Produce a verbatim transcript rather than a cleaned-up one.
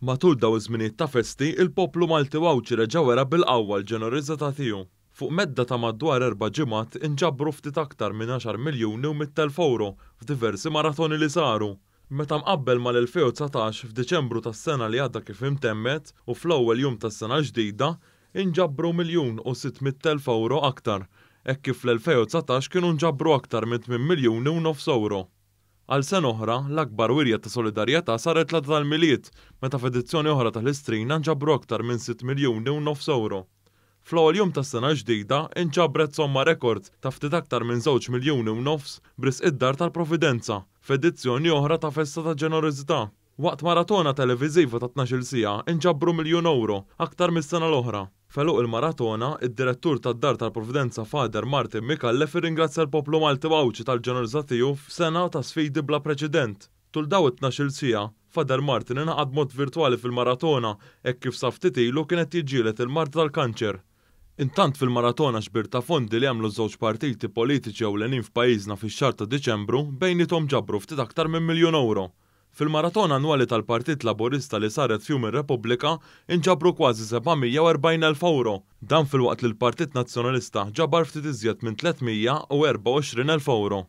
Matul dawn iż-żminijiet ta' festi, il-poplu Malti u Għawdxi reġa' wera bil-qawwa l-ġenerożità tiegħu. Fuq medda ta' madwar erba' ġimgħat inġabru ftit aktar minn għaxar miljuni u mitt elf ewro f'diversi maratoni li saru. Meta mqabbel mal-elfejn u dsatax, f'Diċembru tas-sena li għadha kif intemmet u fl-ewwel jum tas-sena l-ġdida, inġabru miljun u sitt mitt elf ewro aktar, hekk kif fl-elfejn u dsatax kienu nġabru aktar minn tmien miljuni u nofs ewro. Għal sena oħra, l-akbar wirja ta' solidarjetà saret l-għada tal-Milied, meta f'edizzjoni oħra tal-Istrina nġabru aktar minn sitt miljuni u nofs ewro. Fl-ewwel jum tas-sena l-ġdida, inġabret somma rekord ta' ftit aktar minn żewġ miljuni u nofs b'risq id-Dar tal-Providenza, f'edizzjoni oħra ta' festa ta' ġenerożità. Waqt maratona televiżiva ta' tnax-il siegħa inġabru miljun ewro, aktar mis-sena l-oħra. F'għeluq il-maratona, id-direttur tad-Dar tal-Providenza Father Martin Micallef irringrazzja l-poplu Malti u Għawdxi tal-ġenerożità tiegħu f'sena ta' sfidi bla preċedent. Tul dawn it-tnax-il siegħa, Father Martin ingħaqad b'mod virtwali fil-maratona hekk kif sa ftit ilu kien qed jiġġieled il-marda tal-kanċer. Intant fil-maratona xbir ta' fondi li għamlu żewġ partiti politiċi ewlenin f'pajjiżna fix-xahar ta' Diċembru bejniethom ġabru ftit aktar minn miljun ewro. Fil-maratona annwali tal-Partit Laburista li saret f'Jum ir-Repubblika inġabru kważi seba' mija u erbgħin elf ewro. Dan filwaqt li l-Partit Nazzjonalista ġabar ftit iżjed minn tliet mija u erbgħa u għoxrin elf ewro.